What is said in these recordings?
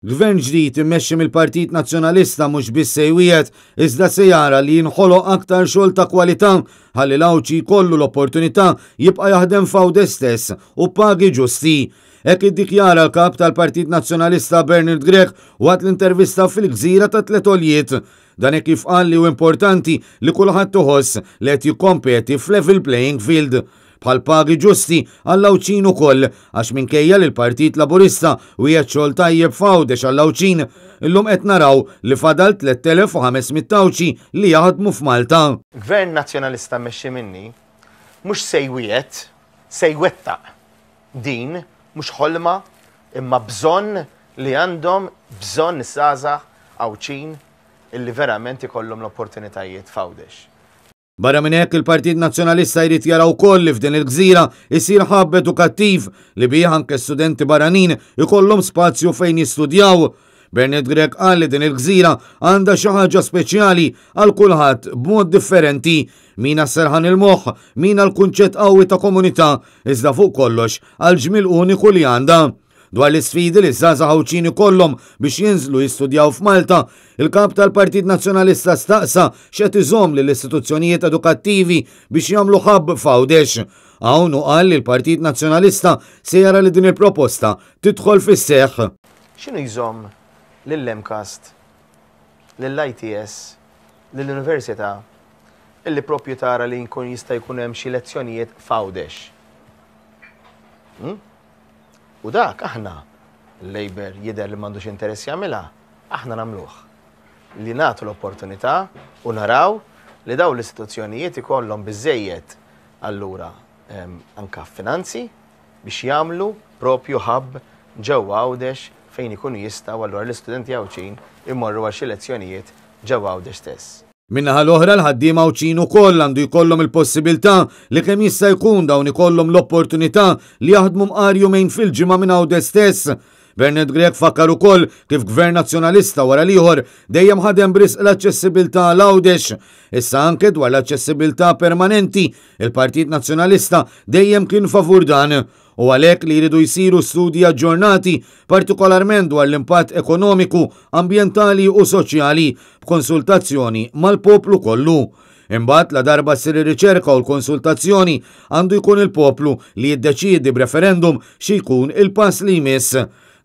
Gvern ġdid immexxi mill-Partit Nazzjonalista mhux biss se jwiegħed iżda se jara li jinħoloq aktar xogħol ta' kwalità ħalli l-Għawdxi jkollu l-opportunità jibqa' jaħdem f'Għawdex stess u b'pagi ġusti. Hekk iddikjara l-Kap tal-Partit Nazzjonalista Bernard Grech waqt l-intervista fil-Gżira ta' Tliet Għoljiet. Dan hekk kif qal li hu importanti li kulħadd iħoss li qed jikkompeti f'level playing field. Bħal pagi ġusti għall-Għawdxin ukoll għax minkejja li l-Partit Laburista wiegħed xogħol tajjeb f'Għawdex għall-Għawdxin, illum qed naraw li fadal 3,500 Għawdxi li jaħdmu f'Malta. Gvern Nazzjonalista mmexxi minni mhux se jwiegħed, se jwettaq. Din mhux ħolma imma bżonn li għandhom bżonn iż-żgħażagħ Għawdxin illi verament ikollhom l-opportunitajiet f'Għawdex. Barra minn hekk, il-Partit Nazzjonalista jrid jara wkoll li f'din il-gżira jsir hub edukattiv li bih anke studenti barranin ikollhom spazju fejn jistudjaw. Bernard Grech qal li din il-gżira għandha xi ħaġa speċjali għal kulħadd b'mod differenti, min għas-serħan il-moħħ, min għall-kunċett qawwi ta' komunità, iżda fuq kollox għall-ġmiel uniku li għandha. Dwar l-isfidi li ż-żgħażagħ Għawdxin ikollhom biex jinżlu jistudjaw f'Malta, il-Kap tal-Partit Nazzjonalista staqsa x'qed iżomm lill-istituzzjonijiet edukattivi biex jagħmlu hub f'Għawdex. Hawn hu qal li l-Partit Nazzjonalista se jara li din il-proposta tidħol fis-seħħ. X'inhu jżomm lill-MCAST, lill-ITS, lill-Università illi propju tara li jkun jista' jkun hemm xi lezzjonijiet f'Għawdex? Hmm? U dak aħna, il-Labour jidher li m'għandux interess jagħmilha, aħna nagħmluh. Li nagħtu l-opportunità u naraw li dawn l-istituzzjonijiet ikollhom biżejjed allura anka finanzi biex jagħmlu propju hub ġewwa Għawdex fejn ikunu jistgħu allura l-istudenti Għawdxin imorru għal xi lezzjonijiet ġewwa Għawdex stess. Min-naħa l-oħra l-ħaddiema Għawdxin ukoll għandu jkollhom il-possibilità li kemm jista' jkun dawn ikollhom l-opportunità li jaħdmu mqar jumejn fil-ġimgħa minn Għawdex stess. Bernard Grech fakkar ukoll kif Gvern Nazzjonalista wara l-ieħor dejjem ħadem b'risq l-aċċessibilità għal Għawdex. Issa anke dwar l-aċċessibilità permanenti, il-Partit Nazzjonalista dejjem kien favur dan. U għalhekk li jridu jsiru studji aġġornati, partikolarment dwar l-impatt ekonomiku, ambjentali u soċjali, b'konsultazzjoni mal-poplu kollu. Imbagħad ladarba ssir ir-riċerka u l-konsultazzjoni, għandu jkun il-poplu li jiddeċiedi b'referendum xi jkun il-pass li jmiss.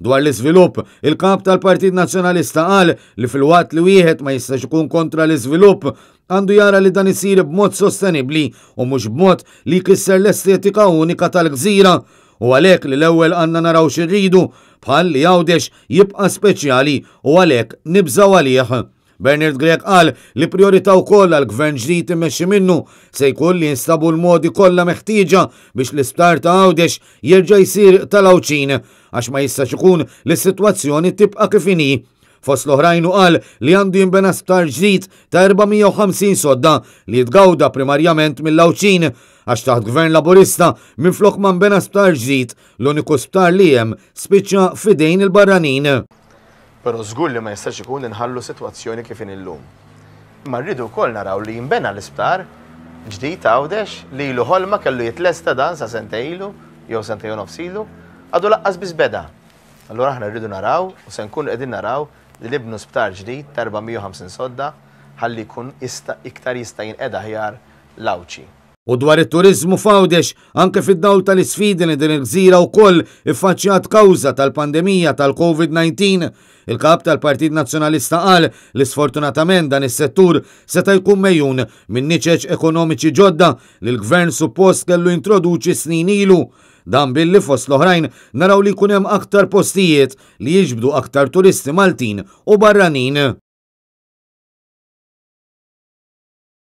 Dwar l-iżvilupp, il-Kap tal-Partit Nazzjonalista qal li filwaqt li wieħed ma jistax ikun kontra l-iżvilupp, għandu jara li dan isir b'mod sostenibbli u mhux b'mod li jkisser l-estetika unika tal-gżira. U għalhekk li l-ewwel għandna naraw xi rridu, bħal li Għawdex jibqa' speċjali u għalhekk nibżgħu għalih. Bernard Grech qal li prijorità wkoll għal gvern ġdid immexxi minnu se jkun li jinstabu l-modi kollha meħtieġa biex l-isptar ta' Għawdex jerġa' jsir tal-Għawdxin għax ma jistax ikun li s-sitwazzjoni tibqa' kif inhi. Fost l-oħrajn hu qal li għandu jinbena sptar ġdid ta' 450 sodda li jitgawda primarjament mill-Għawdxin għax taħt Gvern Laburista minflok ma nbena sptar ġdid, l-uniku sptar li hemm spiċċa f'idejn il-barranin. Però żgur li ma jistax ikun li nħallu sitwazzjoni kif inhi llum. Imma rridu wkoll naraw li jinbena l-isptar ġdid ta' Għawdex li ilu ħolma kellu jitlesta dan sa sentejn ilu jew sentejn u nofs ilu, għadu laqqas biss beda. Allura aħna rridu naraw u se nkunu qegħdin naraw li nibnu sptar ġdid ta' 450 sodda ħalli jkun jista' iktar jista' jinqeda aħjar l-Għawdxi. U dwar it-turiżmu f'Għawdex, anke fid-dawl tal-isfidi li din il-gżira wkoll iffaċċjat kawża tal-pandemija tal-Covid 19, il-Kap tal-Partit Nazzjonalista qal li sfortunatament dan is-settur seta' jkun megħjun minn niċeċ ekonomiċi ġodda li l-Gvern suppost kellu jintroduċi snin ilu. Dan billi fost l-oħrajn naraw li jkun hemm aktar postijiet li jiġbdu aktar turisti Maltin u barranin.